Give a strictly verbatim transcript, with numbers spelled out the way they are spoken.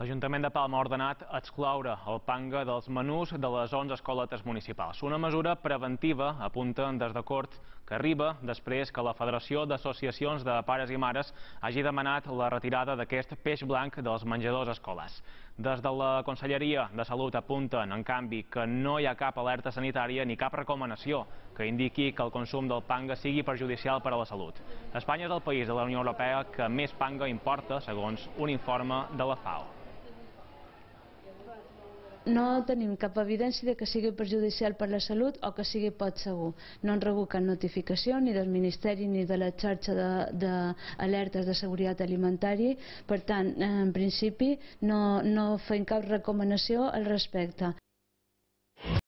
L'Ajuntament de Palma ha ordenat excloure el panga dels menús de les onze escoletes municipals. Una mesura preventiva, apunten des de Cort, que arriba després que la Federació d'Associacions de Pares i Mares hagi demanat la retirada d'aquest peix blanc dels menjadors escolars. Des de la Conselleria de Salut apunten, en canvi, que no hi ha cap alerta sanitària ni cap recomanació que indiqui que el consum del panga sigui perjudicial per a la salut. Espanya és el país de la Unió Europea que més panga importa, segons un informe de la FAO. No tenim cap evidència de que sigui perjudicial per la salut o que sigui poc segur. No han rebut cap notificació ni del Ministeri ni de la xarxa d'alertes de, de seguretat alimentària. Per tant, en principi, no, no fem cap recomanació al respecte.